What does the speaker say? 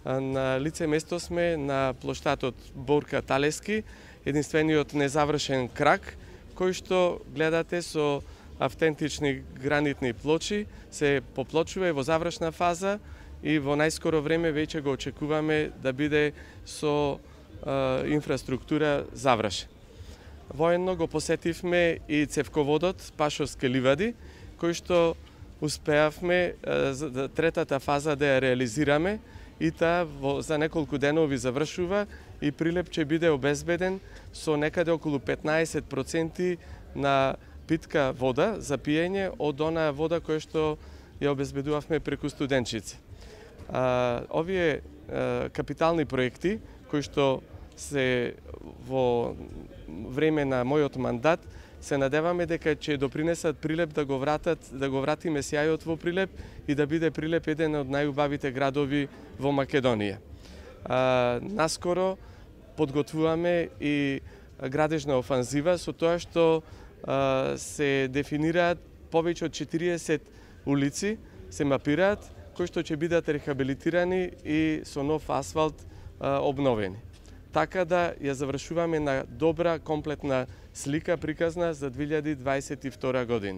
На лице место сме на плоштадот Борка Талески, единствениот незавршен крак, кој што гледате со автентични гранитни плочи, се поплочува и во завршна фаза и во најскоро време веќе го очекуваме да биде со инфраструктура завршен. Воедно го посетивме и цевководот Пашовски ливади, кој што успеавме третата фаза да ја реализираме и таа за неколку денови завршува и прилеп ќе биде обезбеден со некаде околу 15% на питка вода за пиење од онаа вода која што ја обезбедувавме преку студенчици. Овие капитални проекти кои што се во време на мојот мандат, се надеваме дека ќе допринесат Прилеп да го вратиме сјајот во Прилеп и да биде Прилеп еден од најубавите градови во Македонија. Наскоро подготвуваме и градежна офанзива со тоа што се дефинираат повеќе од 40 улици, се мапираат, кои што ќе бидат рехабилитирани и со нов асфалт обновени. Така да ја завршуваме на добра, комплетна слика приказна за 2022 година.